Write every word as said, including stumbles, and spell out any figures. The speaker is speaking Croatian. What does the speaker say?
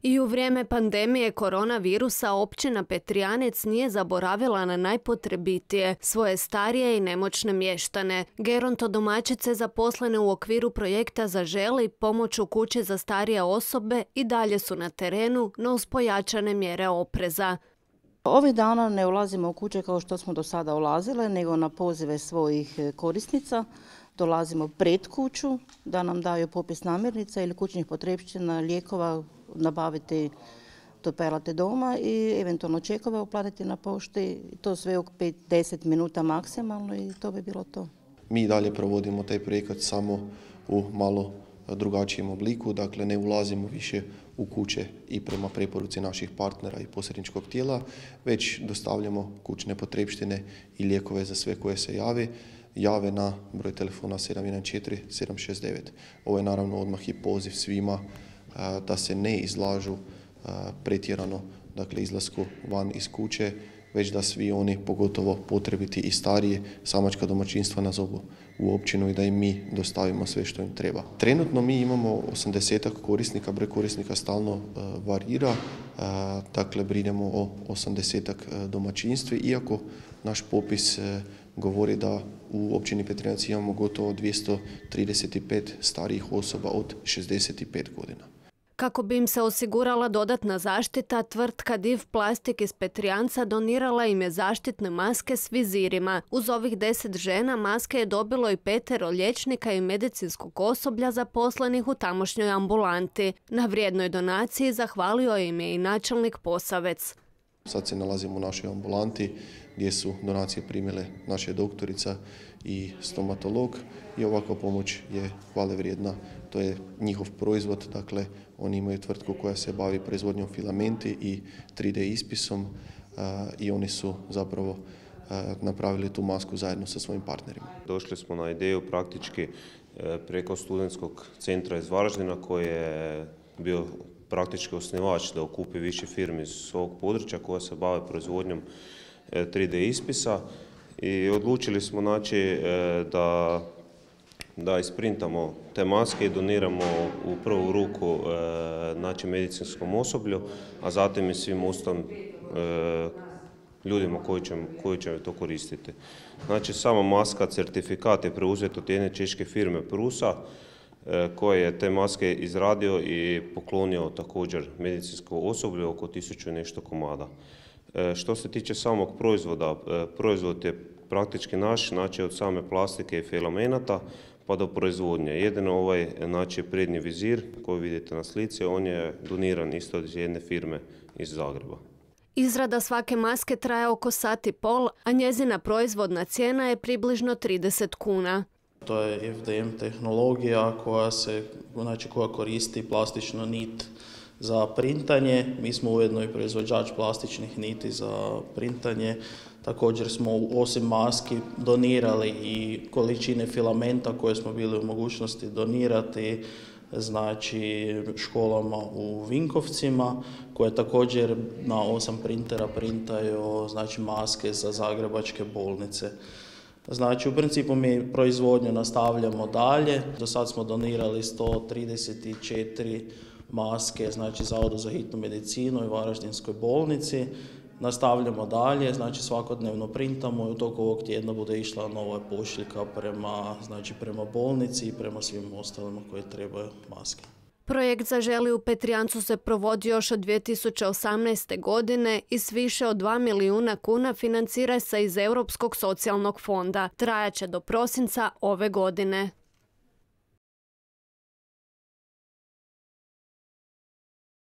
I u vrijeme pandemije koronavirusa općina Petrijanec nije zaboravila na najpotrebitije, svoje starije i nemoćne mještane. Gerontodomaćice zaposlene u okviru projekta Zaželi pomoć u kući za starije osobe i dalje su na terenu, no uz pojačane mjere opreza. Ovih dana ne ulazimo u kuće kao što smo do sada ulazile, nego na pozive svojih korisnica. Dolazimo pred kuću da nam daju popis namirnica ili kućnih potrepština, lijekova, nabaviti to pelate doma i eventualno čekove uplatiti na pošti. To sve u pet do deset minuta maksimalno i to bi bilo to. Mi dalje provodimo taj projekat samo u malo drugačijem obliku, dakle ne ulazimo više u kuće i prema preporuci naših partnera i posredničkog tijela, već dostavljamo kućne potrepštine i lijekove za sve koje se jave. jave na broj telefona sedam jedan četiri sedam šest devet. Ovo je naravno odmah i poziv svima da se ne izlažu pretjerano, dakle izlasku van iz kuće, već da svi oni, pogotovo potrebiti i starije, samačka domaćinstva nazovu u općinu i da im mi dostavimo sve što im treba. Trenutno mi imamo osamdesetak korisnika, broj korisnika stalno uh, varira, uh, dakle brinemo o osamdesetak domaćinstvi, iako naš popis uh, govori da u općini Petrijanec imamo gotovo dvjesto trideset pet starijih osoba od šezdeset pet godina. Kako bi im se osigurala dodatna zaštita, tvrtka Div Plastik iz Petrijanca donirala im je zaštitne maske s vizirima. Uz ovih deset žena maske je dobilo i petero liječnika i medicinskog osoblja zaposlenih u tamošnjoj ambulanti. Na vrijednoj donaciji zahvalio im je i načelnik Posavec. Sad se nalazimo u našoj ambulanti gdje su donacije primile naša doktorica i stomatolog i ovakva pomoć je hvale vrijedna. To je njihov proizvod, dakle oni imaju tvrtku koja se bavi proizvodnjom filamenti i tri D ispisom uh, i oni su zapravo uh, napravili tu masku zajedno sa svojim partnerima. Došli smo na ideju praktički preko studentskog centra iz Varaždina koji je bio praktički osnivač da okupi više firmi iz ovog područja koja se bave proizvodnjom tri D ispisa i odlučili smo znači da da isprintamo te maske i doniramo u prvu ruku znači medicinskom osoblju, a zatim i svim ostalim ljudima koji će, koji će to koristiti. Znači sama maska, certifikat je preuzet od jedne češke firme Prusa koji je te maske izradio i poklonio također medicinskom osoblju oko tisuću i nešto komada. Što se tiče samog proizvoda, proizvod je praktički naš, znači od same plastike i filamenata pa do proizvodnje. Jedino ovaj znači prednji vizir koji vidite na slici, on je doniran isto od jedne firme iz Zagreba. Izrada svake maske traje oko sat i pol, a njezina proizvodna cijena je približno trideset kuna. To je F D M tehnologija koja se, znači koja koristi plastičnu nit za printanje. Mi smo ujedno i proizvođač plastičnih niti za printanje. Također smo osim maski donirali i količine filamenta koje smo bili u mogućnosti donirati znači školama u Vinkovcima koje također na osam printera printaju znači maske za zagrebačke bolnice. Znači, u principu mi proizvodnju nastavljamo dalje. Do sad smo donirali sto trideset četiri maske, znači Zavodu za hitnu medicinu i Varaždinskoj bolnici. Nastavljamo dalje, znači svakodnevno printamo i u toku ovog tjedna bude išla nova pošiljka prema, znači, prema bolnici i prema svim ostalima koji trebaju maske. Projekt Zaželi u Petrijancu se provodi još od dvije tisuće osamnaeste. godine i s više od dva milijuna kuna financira se iz Europskog socijalnog fonda. Trajaće do prosinca ove godine.